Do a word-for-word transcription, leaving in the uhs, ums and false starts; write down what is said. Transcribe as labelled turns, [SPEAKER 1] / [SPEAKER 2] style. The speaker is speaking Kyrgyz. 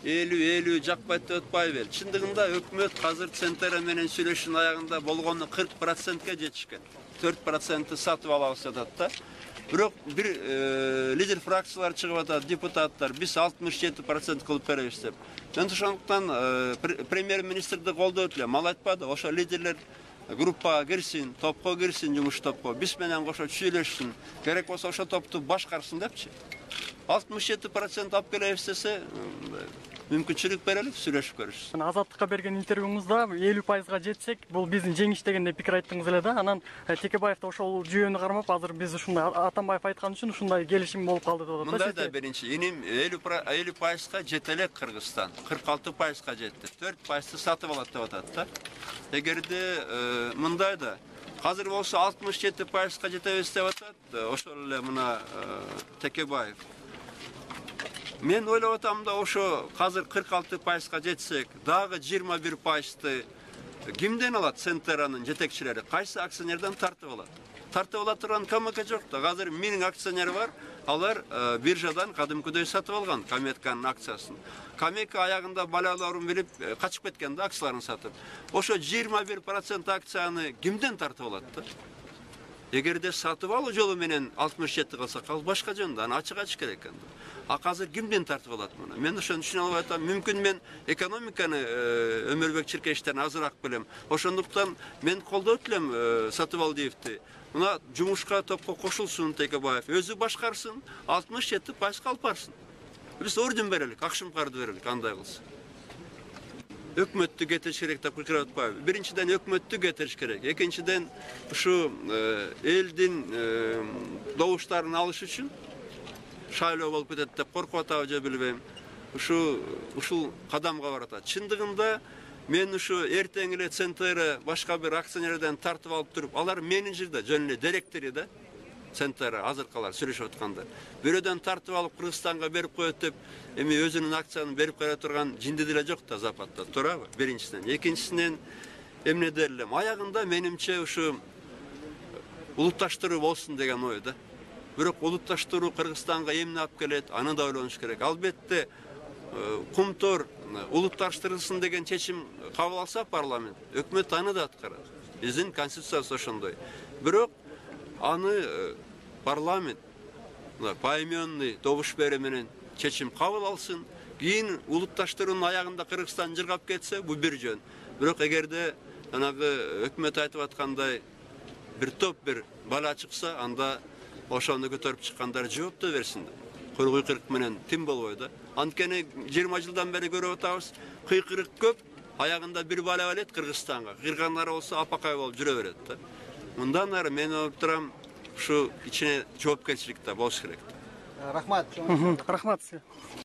[SPEAKER 1] элүү элүү жакпайт деп атпайбы эл. Чындыгында өкмөт азыр Центера менен сүйлөшүүнүн аягында болгону кырк процентке жетишкен. төрт проценти сатып алабыз деп атат да. Бирок бир лидер фракциялар чыгып атат, депутаттар биз алтымыш жети процент кылып беребиз деп. Мен ошондуктан премьер-министрди колдоп элем. Ал айтпады, ошо лидерлер группага кирсин, топко кирсин, жумуш топко. Биз менен кошо сүйлөшсүн. Керек болсо ошо топту башкарсын депчи. алтымыш жети процент алып келебиз десе, мүмкүнчүлүк берели, сүйлөшүп көрүшсүн.
[SPEAKER 2] Азаттыкка берген интервьюңузда элүү пайызга жетсек, бул биздин жеңиш дегенде пикир айттыңыз эле да. Анан Текебаев да ошол жүйөнү кармап, азыр биз ушундай Атамбаев айткан үчүн ушундай келишим болуп калды деп атат.
[SPEAKER 1] Мындай да биринчи, иним элүү пайызга жете элек Кыргызстан, кырк алты пайызга жетти. төрт пайызды сатып алат деп атат да. Эгерде мындай да азыр болсо алтымыш жети пайызга жетебиз деп атат, ошол эле мына Текебаев. Мен ойлоп атам да, ошо азыр кырк алты пайызга жетсек, дагы жыйырма бир пайызды кимден алат? Центеранын жетекчилери кайсы акционерден тартып алат? Тартып ала турган КМК жок да. Азыр менин акционер бар, алар биржадан кадимкүдөй сатып алган Каметканын акциясын. Камека аягында балаларын билип качып кеткен да, акцияларын сатып. Ошо жыйырма бир процент акцияны кимден тартып алат да? Эгерде сатып алуу жолу менен алтымыш жети кылсак, ал башка жөнүндө, аны ачык айтыш керек экен. А азыр кимден тартып алат муну? Мен ошону түшүнө албай атам. Мүмкүн мен экономиканы Өмүрбек Чиркеевичтен азыраак билем. Ошондуктан мен колдоп элем Сатыбалдиевди. Мына жумушка топко кошулсун Текебаев, өзү башкарсын, алтымыш жети пайызга алып барсын. Биз орден берелик, акшым карды берелик, андай кылса. Өкмөттү кетириш керек деп пикир атпайбы? Биринчиден өкмөттү кетириш керек. Экинчиден ушу элдин добуштарын алыш үчүн шайлоо болуп кетет деп коркуп атабы же билбейм. Ушу ушул кадамга баратат. Чындыгында мен ушу эртең эле Центера башка бир акционерден тартып алып туруп, алар менеджерде, жөн эле директори да, Центера азыркалар сүйлөшүп атканда. Бирөөдөн тартып алып Кыргызстанга берип коет деп, эми өзүнүн акциянын берип кое турган жинди деле жок да Западта, туурабы? Биринчиден. Экинчисинен эмне дерлем? Аягында менимче ушу улутташтыруу болсун деген ой да. Бирок улутташтыруу Кыргызстанга эмне алып келет? Аны да ойлонуш керек. Албетте Кумтор улутташтырылсын деген чечим кабыл алса парламент, өкмөт аны да аткарат. Биздин конституциябыз ошондой. Бирок аны парламент поименный добуш берүү менен чечим кабыл алсын. Кийин улутташтыруунун аягында Кыргызстан жыргап кетсе, бул бир жөн. Бирок эгерде жанагы өкмөт айтып аткандай бир топ бир бала чыкса, анда ошону көтөрүп чыккандар жооп да берсин. Кой кыйкырык менен тим болбойт. Анткени жыйырма жылдан бери көрүп атабыз, кыйкырык көп, аягында бир бала келет Кыргызстанга. Кыргызстандар болсо апакай болуп жүрө берет да. Мындан ары мен ойлоп турам, ушу ичине жоопкерчилик да болуш керек.
[SPEAKER 3] Рахмат.
[SPEAKER 2] Рахмат сизге.